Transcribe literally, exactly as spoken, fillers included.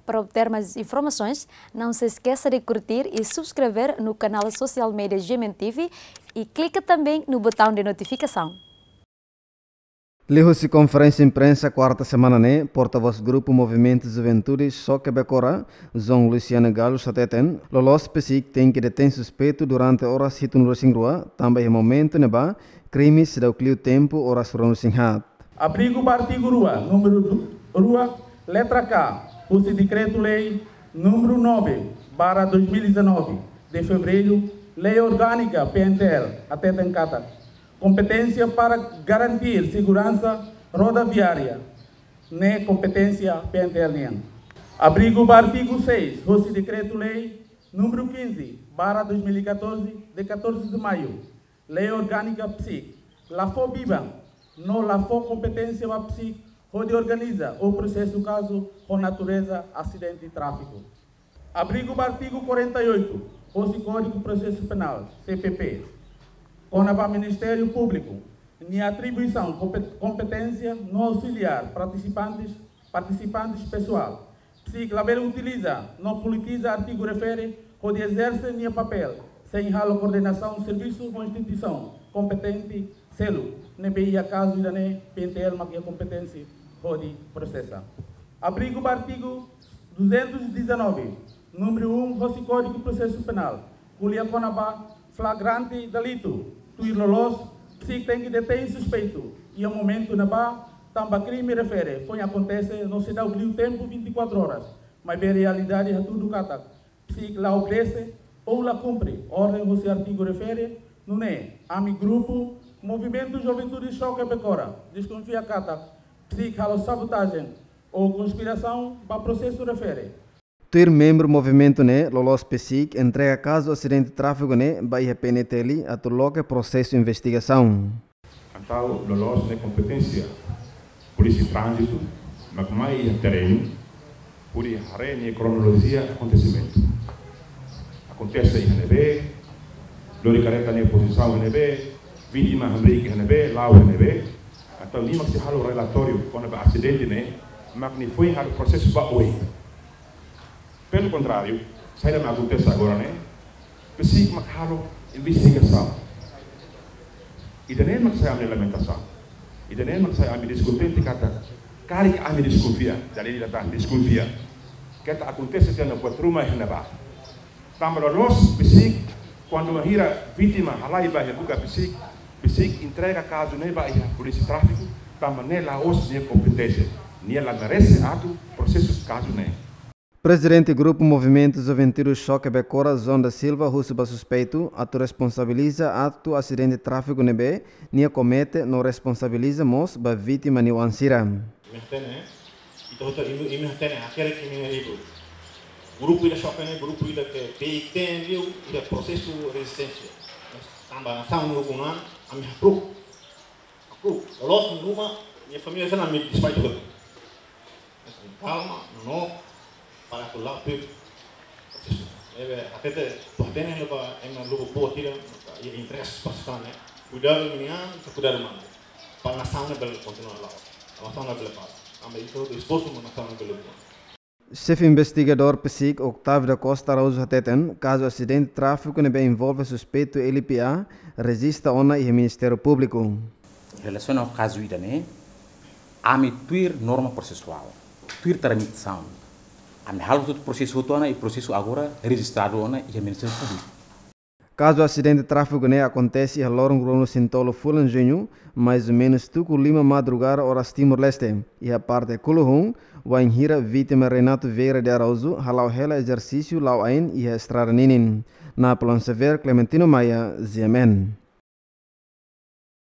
Para obter mais informações, não se esqueça de curtir e subscrever no canal social media G M N T V e clica também no botão de notificação. Liuhusi konferénsia imprensa kuarta semana ne'e, portavós Grupu Movimentu Juventude Xoke Bekora, João Luciano Galo hateten, loloos PCIC tenke detein suspeitu durante oras hitunulu-resin-rua, tanba iha momentu ne'ebá, krime seidauk liu tempu oras ruanulu-resin-haat. Abrigu ba artigu rua, númeru du-, rua, letra K, husi Dekretu-Lei númeru nove barra dois mil e dezanove, de fevereiru, Lei Orgānika P N T L, hateten katak kompeténsia para garantir seguransa rodoviária ne'e kompeténsia P N T L nian. Abrigu ba artigu seis, husi Dekretu-Lei númeru quinze barra dois mil e catorze, de catorze de maio, Lei Orgānika PCIC, la fó biban, no la fó kompeténsia ba PCIC hodi organiza ou prosesa kazu ho natureza asidente tráfiku. Abrigu ba artigu quarenta e oito, husi Kódigu Prosesu Penál, C P P, kona-ba Ministériu Públiku nia atribuisaun, kompe-, kompeténsia no auxiliar partisipantes, partisipantes pesoál. PCIC labele utiliza no politiza artigu refere hodi ezerse nia papél sein halo koordenasaun servisu ho instituisaun kompetente seluk, ne'ebé iha kazu ida-ne'e P N T L mak iha kompeténsia hodi prosesa. Abrigu ba artigu duzentos e dezanove, númeru um, husi Kódigu Prosesu Penál, ko'alia kona-ba flagrante delitu, tuir loloos, PCIC tenke detein suspeitu iha momentu ne'ebá, tanba krime refere foin akontese no seidauk liu tempu vinte e quatro horas, maibé realidade hatudu katak PCIC la obedese ou la kumpre orden husi artigu refere, nune'e ami Grupu Movimentu Juventude Xoke Bekora deskonfia katak PCIC halo sabotajen ou konspirasaun ba prosesu refere. Tuir membru movimentu ne'e, loloos PCIC entrega kazu asidente tráfiku ne'e ba iha P N T L atu loke prosesu investigasaun. Entaun, loloos ne'e kompeténsia Polísia Tránzitu, mak mai iha terrenu, hodi haree nia kronolojia akontesimentu. Akontese iha ne'ebé, lori karreta nia pozisaun iha ne'ebé, vítima hamriik iha ne'ebé, la'o iha ne'ebé, entaun nia mak sei halo relatóriu kona-ba asidente ne'e, mak nia foin halo prosesu ba oin. Pelo contrário, saida mak akontese agora ne'e, PCIC mak halo investigasaun. Ida-ne'e mak sai ami lamentasaun. Ida-ne'e mak sai ami deskontente katak, karik ami deskonfia, dalil ida tan deskonfia. Keta akontese tiha ona buat ruma iha ne'ebá. Tanba loloos PCIC, kuandu bainhira vítima halai ba iha buka PCIC, PCIC entrega kazu ne'e ba iha Polísia Tráfiku, tanba ne'e la'ós nia kompeténsia. Nia la merese atu prosesu kazu ne'e. Prezidente Grupu Movimentu Juventude Xoke Bekora, João da Silva, husu ba suspeitu atu responsabiliza atu asidente tráfiku ne'ebé nia komete no responsabiliza mós ba vítima nia oan sira. Imi hatene, ita hotu imi, imi hatene, hakerek imi-nia livru. Grupu ida xoke ne'e, grupu ida ke PCIC liu, ida prosesu rezisténsia. Mas tanba nasaun nia ukun-an, ami hakru'uk. Hakru'uk, loloos nia ruma, nia família sira ami despaitu hotu. Mas ami kalma, no, para atu la'o tuir prosesu. Ne'ebé, hatete, atu hatene ne'e ba, ema lubuk boot ida, iha interese ba sasán ne'e. Kuidadu imi-nian, kuidadu malu. Para nasaun ne'e bele kontinua la'o. Nasaun ne'e bele para. Ami ita dispostu atu nasaun ne'e bele buat. Xefe investigadór PCIC, Octávio da Costa Araújo hateten, kazu asidente tráfiku ne'ebé envolve suspeitu L P A, rejista ona iha Ministériu Públiku. Relasiona ho kazu ida-ne'e, ami tuir norma prosesuál, tuir tramitasaun. Ami halo hotu prosesu hotu ona, i prosesu agora rejistradu ona iha Ministériu Públiku. Kazu asidente tráfiku ne'e akontese iha loron ruanulu-resin-tolu fulan Juñu, mais ou menus tuku lima madrugada oras Timor-Leste, iha parte Kuluhun, wainhira vítima Renato Vieira de Araújo hala'o hela ezersísiu la'o ain iha estrada ninin. Napoleão Xavier, Clementino Maia, G M N.